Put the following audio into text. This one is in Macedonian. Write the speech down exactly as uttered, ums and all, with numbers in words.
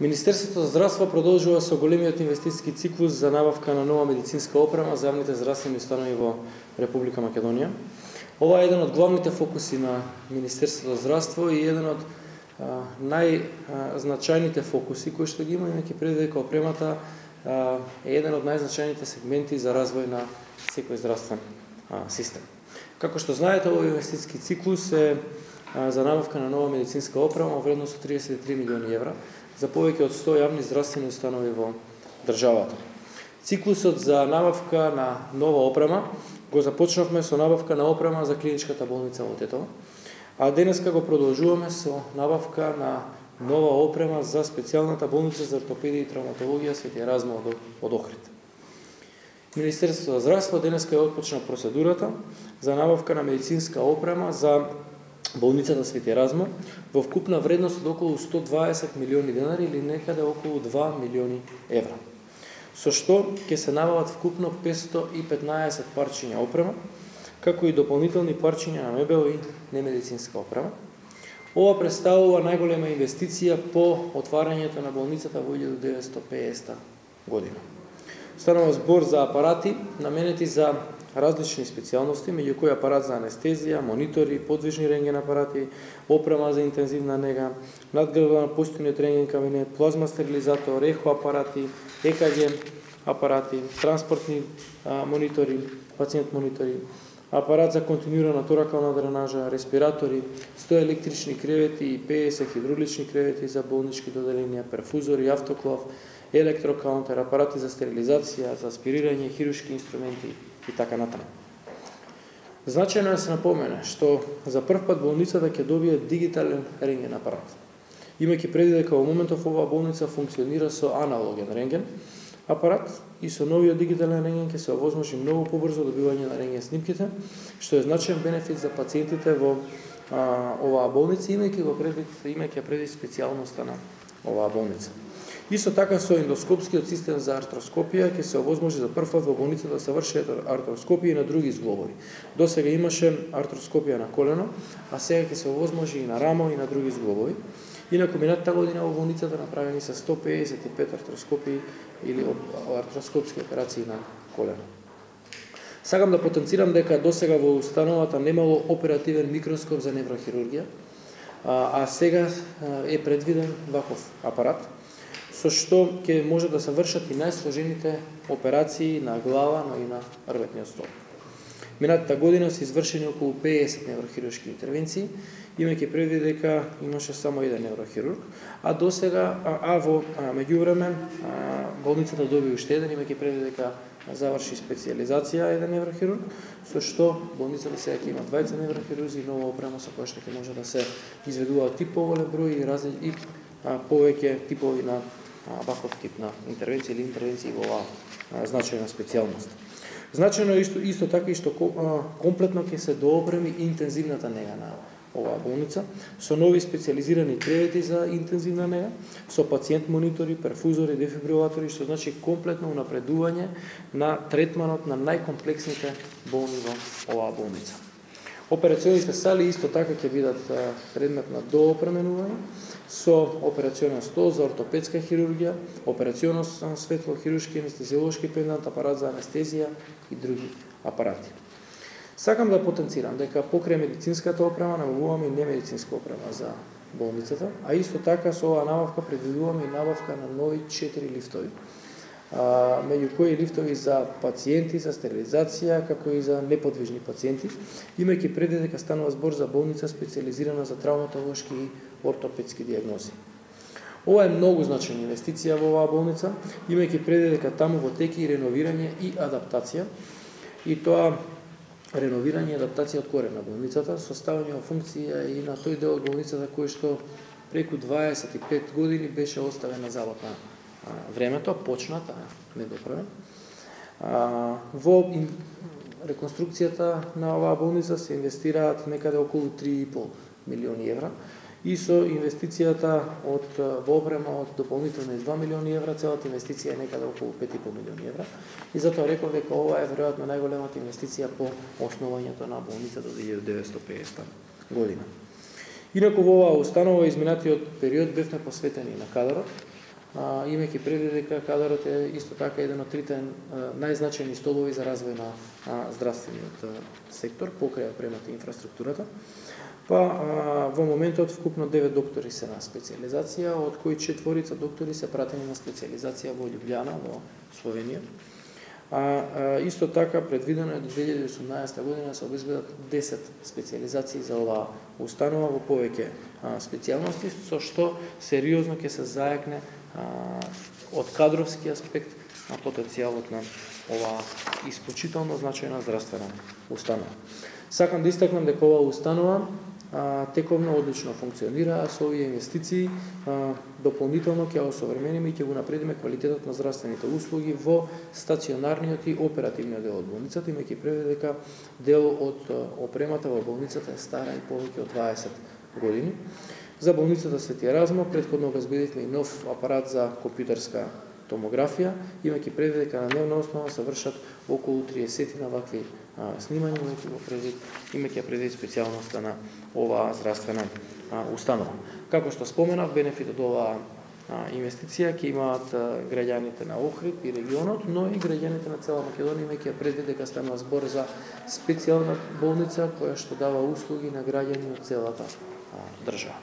Министерството за здравство продолжува со големиот инвестициски циклус за набавка на нова медицинска опрема за јавните здравствени установи во Република Македонија. Ова е еден од главните фокуси на Министерството за здравство и еден од најзначајните фокуси кои што ги има, имајќи предвид дека опремата а, е еден од најзначајните сегменти за развој на секој здравствен а, систем. Како што знаете, овој инвестициски циклус е а, за набавка на нова медицинска опрема во вредност од триесет и три милиони евра за повеќе од сто јавни здравствени установи во државата. Циклусот за набавка на нова опрема го започнавме со набавка на опрема за клиничката болница во Тетово, а денеска го продолжуваме со набавка на нова опрема за специјалната болница за ортопедија и травматологија Свети Еразмо од Охрид. Министерството за здравство денеска е отпочна процедурата за набавка на медицинска опрема за болницата Свети Еразмо во вкупна вредност од околу сто дваесет милиони денари или некаде околу два милиони евра. Со што ќе се набават вкупно петстотини и петнаесет парчиња опрема, како и дополнителни парчиња на мебел и немедицинска опрема. Ова представува најголема инвестиција по отварањето на болницата во илјада деветстотини и пеесета година. Станува збор за апарати наменети за различни специјалности, меѓу кои апарат за анестезија, монитори, подвижни рентген апарати, опрема за интензивна нега, надградба на постојниот рентген кабинет, плазма стерилизатор, ехо апарати, е ка ге апарати, транспортни а, монитори, пациент монитори, апарат за континуирана торакална дренажа, респиратори, сто електрични кревети и пеесет хидравлични кревети за болнички доделенија, перфузори, автоклав, електрокаунтер, апарати за стерилизација, за аспирирање, хируршки инструменти и така натаму. Значајно е да се напомене што за прв пат болницата ќе добие дигитален рентген апарат. Имајќи предвид дека во моментов оваа болница функционира со аналоген рентген апарат и со новиот дигитален рентген ќе се овозможи многу побрзо добивање на рентген снимките, што е значаен бенефит за пациентите во а, оваа болница, имајќи го предвид, имајќи предвид специјалноста на оваа болница. Исто така со ендоскопскиот систем за артроскопија ќе се овозможи за прв пат во болницата да се врши артроскопија и на други зглобови. Досега имаше артроскопија на колено, а сега ќе се овозможи и на рамо и на други зглобови. Инаку минатата година во болницата направени се сто пеесет и пет артроскопии или артроскопски операции на колено. Сакам да потенцирам дека досега во установата немало оперативен микроскоп за неврохирургија, а, а сега е предвиден ваков апарат, со што ќе може да се вршат и најсложените операции на глава, но и на рветниот столб. Минатата година се извршени околу пеесет неврохируршки интервенции, имајќи предвид дека имаше само еден неврохирург, а досега, а, а во меѓувреме болницата доби уште еден, имајќи предвид дека заврши специјализација еден неврохирург, со што болницата сега ќе има двајца неврохирурзи и нова опрема со која што ќе може да се изведуваат и поголем број и разли и а, повеќе типови на ваков тип на интервенција или интервенции во оваа значајна специјалност. Значајно е исто, исто така и што комплетно ќе се доопреми интензивната нега на оваа болница, со нови специјализирани кревети за интензивна нега, со пациент монитори, перфузори, дефибрилатори, што значи комплетно унапредување на третманот на најкомплексните болни во оваа болница. Операционите сали исто така ќе бидат предмет на доопременување, со операционен стол за ортопедска хирургија, операционно светло, хируршки, анестезиолошки пендант, апарат за анестезија и други апарати. Сакам да потенцирам дека покрај медицинската опрема набавуваме и немедицинска опрема за болницата, а исто така со оваа набавка предвидуваме и набавка на нови четири лифтови, а, меѓу кои лифтови за пациенти, за стерилизација, како и за неподвижни пациенти, имајќи предвид дека станува збор за болница специјализирана за травматолошки и ортопедски дијагнози. Ова е многу значајна инвестиција во оваа болница, имајќи предвид дека таму во теки и реновирање и адаптација, и тоа реновирање и адаптација од корен на болницата, со ставање во функција и на тој дел од болницата кој што преку дваесет и пет години беше оставен на забот на времето, почната, недоправен. Во реконструкцијата на оваа болница се инвестираат некаде околу три и пол милиони евра и со инвестицијата од во опрема од дополнителни два милиони евра, целата инвестиција е некаде околу пет и пол милиони евра. И затоа реков дека ова е веројатно најголемата инвестиција по основањето на болницата до илјада деветстотини и пеесета година. Инаку во оваа установа изминатиот период бевме посветени на кадрот, имајќи предвид дека кадарот е исто така еден од трите најзначајни столови за развој на здравствениот сектор покрај опремата и инфраструктурата. Па во моментот вкупно девет доктори се на специјализација, од кои четворица доктори се пратени на специјализација во Љубљана, во Словенија. А исто така предвидено е до две илјади и осумнаесета година да се обезбедат десет специјализации за оваа установа во повеќе специјалности, со што сериозно ќе се зајакне од кадровски аспект на потенцијалот на оваа исклучително значајна здравствена установа. Сакам да истакнам дека оваа установа тековно одлично функционира, а со овие инвестиции дополнително ќе осовремениме и ќе го напредиме квалитетот на здравствените услуги во стационарниот и оперативниот дел од болницата, имајќи предвид дека дел од опремата во болницата е стара и повеќе од дваесет години. За болницата Свети Еразмо претходно обезбедивме и нов апарат за компјутерска томографија, имајќи предвид дека на дневна основа се вршат околу триесет на вакви снимања, имајќи предвид специјалноста на оваа здравствена установа. Како што споменав, бенефит од оваа инвестиција ќе имаат граѓаните на Охрид и регионот, но и граѓаните на цела Македонија, имајќи предвид дека станува збор за специјална болница која што дава услуги на граѓани од целата држава.